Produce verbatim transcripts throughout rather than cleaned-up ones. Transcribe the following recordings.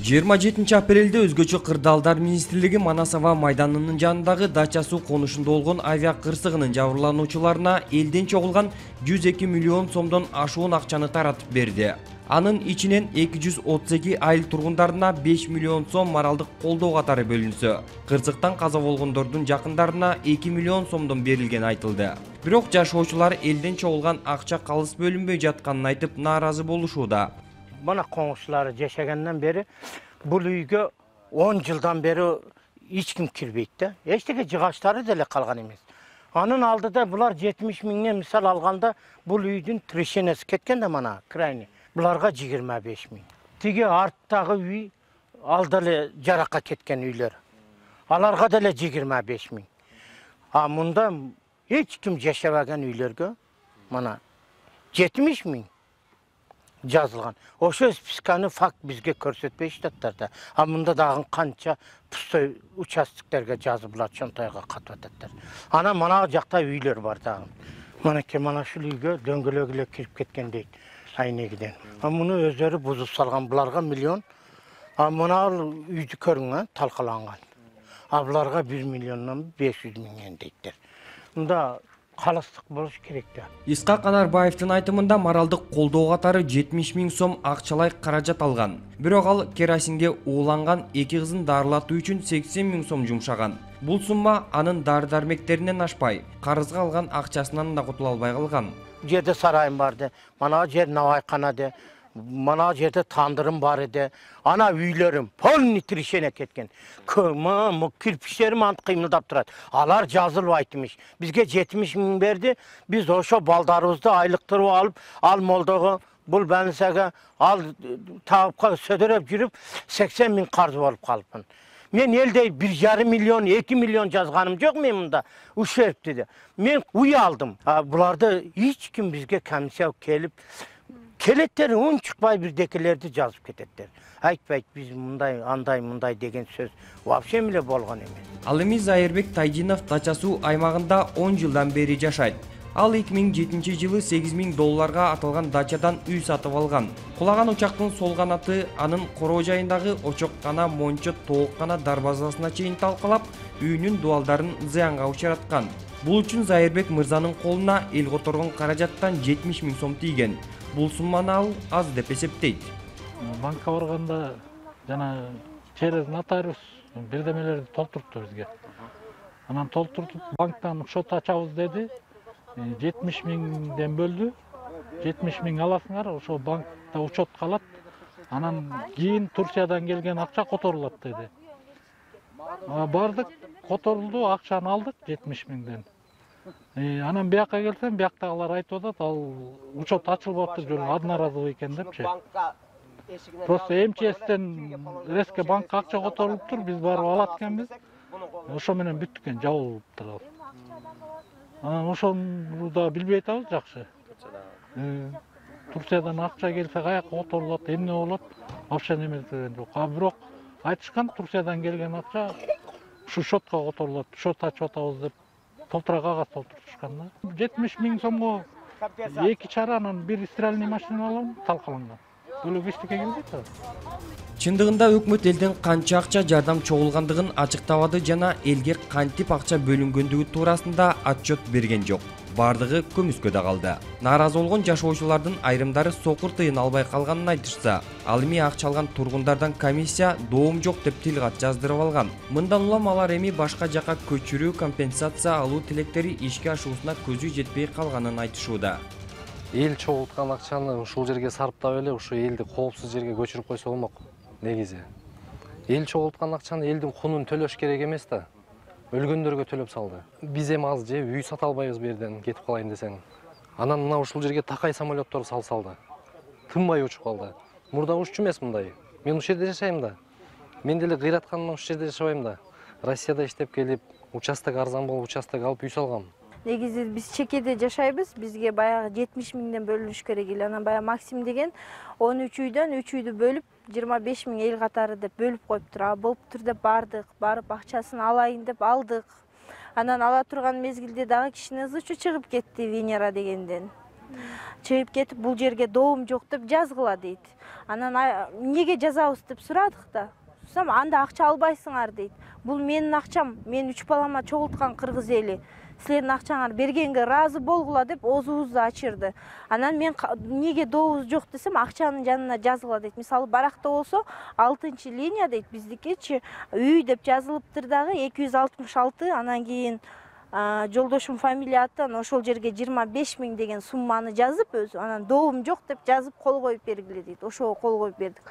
жыйырма жетинчи апрелде өзгөчө кырдаалдар министрлиги Манасова майданынын жанындагы дача суу конушунда болгон авиа кырсыгынын жабырлануучуларына элден чогулган жүз эки миллион сомдон ашуун акчаны таратып берди. Анын ичинен эки жүз отуз эки айыл тургундарына беш миллион сом моралдык колдоо катары бөлүнсө, кырсыктан каза болгондордун жакындарына эки миллион сомдон берилгени айтылды. Бирок жашоочулар элден чогулган акча калыс бөлүнбөй жатканын айтып нааразы болушууда. Бана коңушчулары жашагандан бери бул үйгө он жылдан бери эч ким кирбейт да. Эчтеке жыгачтары деле калган эмес. Анын алдыда булар жетимиш миңден мисал алганда бул үйдүн трешенеси кеткен да мана крайне. Буларга жыйырма беш миң. Тиги арттагы үй ал деле жаракка кеткен үйлөр. Аларга деле жыйырма беш миң. А мында эч ким жашабаган үйлөргө мана жетимиш миң жазылган. Ошо списканы факт бизге көрсөтпөй жатат да. А мында дагы канча пустой участоктерге жазылып чонтойго катып атат. Ана мана жакта үйлөр бар дагы. Манеке мана ушул үйгө дөңгөлөк эле кирип кеткен дейт. Айнегиден. А муну өздөрү бузуп салган, буларга миллион. А мына үйдү көрүң, талкаланган. А буларга бир миллиондон беш жүз миңден дейттер. Мында калыстык болуш керек да. Исхак Анарбаевдин айтымында моралдык колдоо катары жетимиш миң сом акчалай каражат алган. Бирок ал керосинге ууланган эки кызын дарылатуу үчүн сексен миң сом жумшаган. Бул сумма анын дары-дармектеринен ашпай, карызга алган акчасынан да кутула албай калган. Жерде сарайым барды, мана жер навайканады, мана жерде тандырым бар эди. Ана үйлөрүм полный трешене кеткен. Көмө кирпичтерим ант кыймылдап турат. Алар жазылбайт эмиш. Бизге жетимиш миң берди. Биз ошо балдарыбызды айлыктырып алып, ал молдого бул банисага ал таапка сөдөрөп жүрүп сексен миң карыз болуп калыпмын. Мен элде бир жарым миллион, эки миллион жазганым жок мен мында. Ушерп деди. Мен уй алдым. Буларды эч ким бизге комиссия келип келеттер он чыкпай бирдекелерди жазып кететтер. Айтпайт биз мындай, андай, мындай деген сөз вообще эле болгон эмес. Ал эми Зайырбек Тайдинов дача суу аймагында он жылдан бери жашайт. Ал эки миң жетинчи жылы сегиз миң долларга аталган дачадан үй сатып алган. Кулаган учактын сол канаты анын короо жайындагы очоккана, мончо, тооккана дарбазасына чейин талкалап, үйүнүн дубалдарын зыянга учураткан. Бул үчүн Зайырбек мырзанын колуна эл которгон каражаттан жетимиш миң сом тийген. Бул сумманы ал аз деп эсептейт. Банкка барганда жана через нотариус бирдемелерди толтурупту бизге. Анан толтуртуп банктан счет ачабыз деди. жетимиш миңден бөлдү. жетимиш миң аласыңар, ошо банкта учет калат. Анан кийин Турциядан келген акча которулат деди. Бардык, которулду, акчаны алдык жетимиш миңден. Анан бияка келсем, бияктагылар айтып атат, ал учет ачылбаптыр, жөн одноразовый экен депчи. Просто эм че эстен резко банкка акча которулуптур, биз барып алат экенбиз. Ошо менен бүттүк экен, жабылыптыр ал. Анан ошону да билбей атабыз жакшы. Турциядан акча келсе каяка которулат, эмне болот, вообще неме деген жок. А бирок айтышкан Турциядан келген акча ушу счетко которулат, счет ачып атабыз деп толтура кагаз толтурушкан да. жетимиш миң сомго эки чара анан бир стиральный машина алам, талкаланган. Бөлөк эчтеке келбейт да. Чындыгында өкмөт элден канча акча жардам чогулгандыгын ачыктабады жана элге кантип акча бөлүнгөндүгү туурасында отчет берген жок. Бардыгы көмүскөдө калды. Нааразы болгон жашоочулардын айрымдары сокур тыйын албай калганын айтышса, ал эми акча алган тургундардан комиссия доом жок деп тил кат жаздырып алган. Мындан улам алар эми башка жака көчүрүү, компенсация алуу тилектери ишке ашуусуна көзү жетпей калганын айтышууда. Эл чогулткан акчаны ушул жерге сарптап эле ушу элди коопсуз жерге көчүрүп койсо болмок. Негизи эл чогулткан акчаны элдин кунун төлөш керек эмес да. Өлгөндөргө төлөп салды. Биз эми аз же үй сата албайбыз бу жерден кетип калайын десең. Анан мына ушул жерге такай самолеттор салсалды. Тынбай учуп калды. Мурда уччу эмес мындай. Мен ушул жерде жашайм да. Мен деле кыйратканымдан ушул жерде жашабайм да. Россияда иштеп келип, участок арзан болуп, участок алып үй салгам. Негизи биз чекеде жашайбыз. Бизге баягы жетимиш миңден бөлүнүш керек эле. Анан баягы Максим деген он үч үйдөн үч үйдү бөлүп жыйырма беш миң эл катары деп бөлүп коюптур. А болуптур деп бардык, барып акчасын алайын деп алдык. Анан ала турган мезгилде дагы кишинин ызы чыгып кетти Венера дегенден. чыгып кетип бул жерге доом жок деп жазгыла дейт. Анан эмнеге жазабыз деп сурадык да. Сурасам, анда акча албайсыңар дейт. Бул менин акчам, мен үч балама чогулткан кыргыз эли. Силердин акчаңар бергенге ыраазы болгула деп оозубузду ачырды. Анан мен эмнеге дообуз жок десем, акчанын жанына жазгыла дейт. Мисалы баракта болсо алтынчы линия дейт, биздикичи үй деп жазылыптыр дагы эки жүз алтымыш алты, анан кийин жолдошум фамилия аттан ошол жерге жыйырма беш миң деген сумманы жазып өзү, анан доом жок деп жазып кол коюп бергиле дейт. Ошого кол коюп бердик.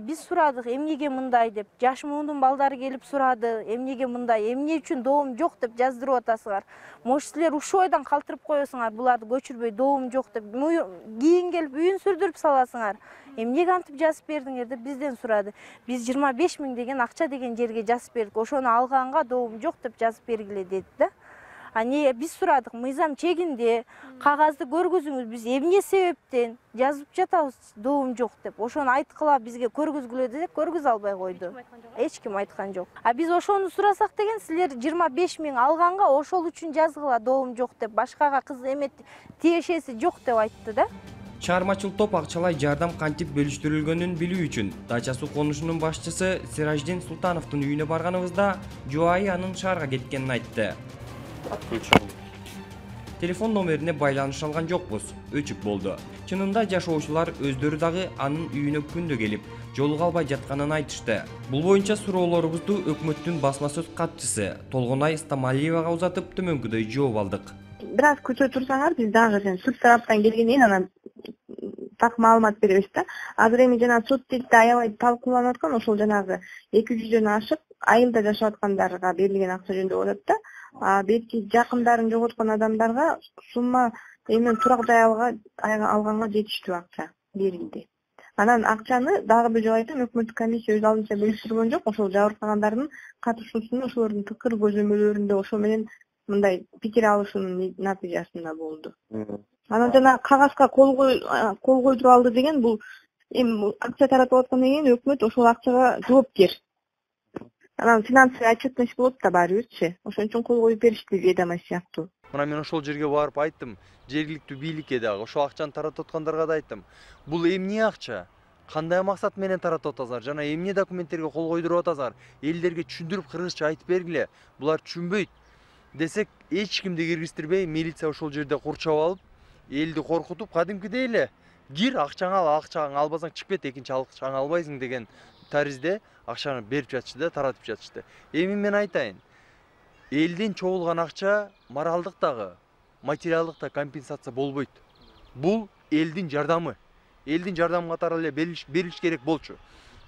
Биз сурадык, эмнеге мындай деп. Жаш муундун балдары келип сурады, эмнеге мындай, эмне үчүн доом жок деп жаздырып атасыңар. Может, силер ушул ойдон калтырып коесуңар, буларды көчүрбөй доом жок деп. Кийин келип үйүн сүрдүрүп саласыңар. Эмнеге антип жазып бердиңер деп бизден сурады. Биз жыйырма беш миң деген акча деген жерге жазып бердик. Ошону алганга доом жок деп жазып бергиле деди да. Ане биз сурадык, мыйзам чегинде кагазды көргүзүңүз, биз эмне себептен жазып жатабыз доом жок деп. Ошону айткыла, бизге көргүзгүлө десек, көргүзө албай койду. Эч ким айткан жок. А биз ошону сурасак деген, силер жыйырма беш миң алганга ошол үчүн жазгыла доом жок деп, башкага кыз эме тиешеси жок деп айтты да. Чыгармачыл топ акчалай жардам кантип бөлүштүрүлгөнүн билүү үчүн Дача суу конушунун башчысы Сираждин Султановдун үйүнө барганыбызда жубайы анын шаарга кеткенин айтты. Телефон номерине байланыша алган жокпуз, өчүк болду. Чынында жашоочулар өздөрү дагы анын үйүнө күндө келип, жолуга албай жатканын айтышты. Бул боюнча суроолорубузду өкмөттүн басма сөз катчысы Толгонай Стамалиевага узатып төмөнкүдөй жооп алдык. Бир аз күтө турсаңар, биз дагы сен суд тараптан келгенден кийин анан так маалымат беребиз да. Азыр эми жана суд тилде аябай талкууланып аткан, ошол жанагы эки жүздөн ашык айылда жашап аткандарга берилген акча жөнүндө болуп атат да. А белки жакындарын жоготкон адамдарга сумма эми турак жай алганга жетиштүү акча берилди. Анан акчаны дагы бир жолу айтам, өкмөттүк комиссия өз алдынча бөлүштүргөн жок. Ошол жабыркагандардын катышуусунда, ошолордун пикир көзөмөлдөрүндө ошо менен мындай пикир алышуунун натыйжасында болду. Анан жана кагазга кол кол койдуруп алды деген, бул эми акча таратып аткандан кийин өкмөт ошол акчага жоопкер. Анан финансовый отчетность болот да баары бирчи. Ошон үчүн кол коюп беришти ведомость сыяктуу. Мына мен ошол жерге барып айттым, жергиликтүү бийликке дагы, ошол акчаны таратып аткандарга да айттым. Бул эмне акча? Кандай максат менен таратып атасыңар? Жана эмне документтерге кол койдуруп атасыңар? Элдерге түшүндүрүп кыргызча айтып бергиле. Булар түшүнбөйт десек, эч кимди киргизтирбей, милиция ошол жерде курчап алып, элди коркутуп, кадимкидей эле кир, акчаңы ал, акчаңы албасаң чыгып кет, экинчи акчаңы албайсың деген таризде акчаны берип жатышты да, таратып жатышты. Эми мен айтайын, элден чогулган акча моралдык дагы, материалдык да компенсация болбойт. Бул элдин жардамы. Элдин жардамы катары эле берилиш керек болчу.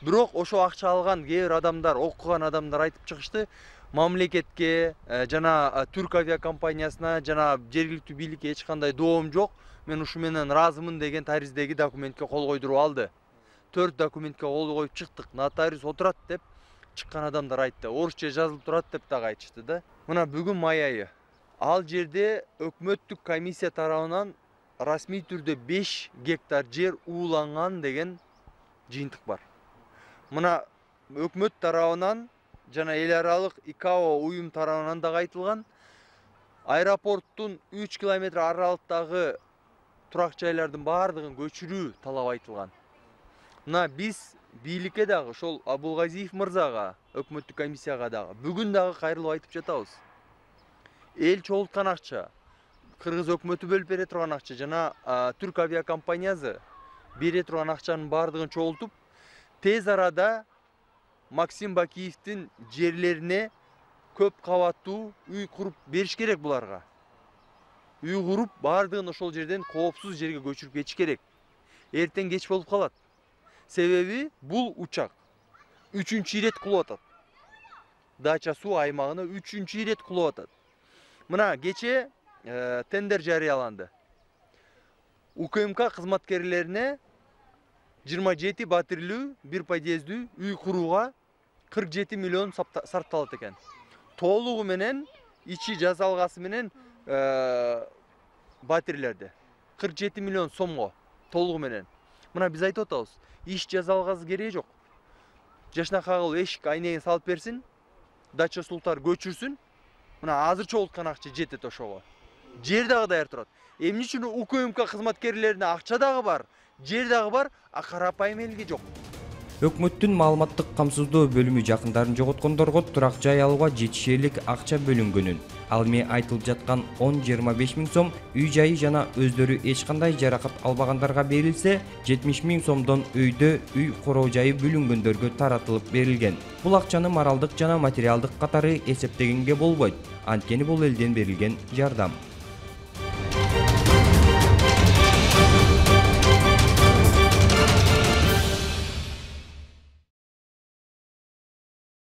Бирок ошо акча алган кээ бир адамдар, окуган адамдар айтып чыгышты, мамлекетке жана Түрк авиакомпаниясына жана жергиликтүү бийликке эч кандай доом жок, мен ушу менен ыраазымын деген тариздеги документке кол койдуруп алды. Төрт документке кол коюп чыктык, нотариус отурат деп чыккан адамдар айтты. Орусча жазылып турат деп дагы айтышты да. Мына бүгүн май айы. Ал жерде өкмөттүк комиссия тарабынан расмий түрдө беш гектар жер ууланган деген жыйынтык бар. Мына өкмөт тарабынан жана эл аралык ИКАО уюм тарабынан дагы айтылган, аэропорттун үч километр аралыктагы турак жайлардын баардыгын көчүрүү талап айтылган. Мына биз бийликке дагы, ошол Абулгазиев мырзага, өкмөттүк комиссияга дагы бүгүн дагы кайрылып айтып жатабыз. Эл чогулткан акча, кыргыз өкмөтү бөлүп бере турган акча жана Түрк авиакомпаниясы бере турган акчанын баардыгын чогултуп, тез арада Максим Бакиевдин жерлерине көп кабаттуу үй куруп бериш керек буларга. Үй куруп, баардыгын ошол жерден коопсуз жерге көчүрүп кетиш керек. Эртең кеч болуп калат. Себеби бул учак үчүнчү ирет кулуп атат. Дача суу аймагына үчүнчү ирет кулуп атат. Мына кече тендер жарыяланды. УКМК кызматкерлерине жыйырма жети батирлүү, бир подъездүү үй курууга кырк жети миллион сарпталат экен. Толугу менен, ичи жасалгасы менен батирлерде кырк жети миллион сомго толугу менен. Мына биз айтып атабыз, иш жасалгасы кереги жок. Жашнакагыл эшик айнегин салып берсин, дача султар көчүрсүн. Мына азыр чогулткан акча жетет ошого. жер дагы даяр турат. Эмне үчүн УКМК кызматкерлерине акча дагы бар, жер дагы бар, а карапайым элге жок? Өкмөттүн маалыматтык камсыздоо бөлүмү жакындарын жоготкондорго турак жай алууга жетишерлик акча бөлүнгөнүн, ал эми айтылып жаткан он жыйырма беш миң сом үй жайы жана өздөрү эч кандай жаракат албагандарга берилсе, жетимиш миң сомдон өйдө үй короо жайы бөлүнгөндөргө таратылып берилген. Бул акчаны моралдык жана материалдык катары эсептегенге болбойт. Анткени бул элден берилген жардам.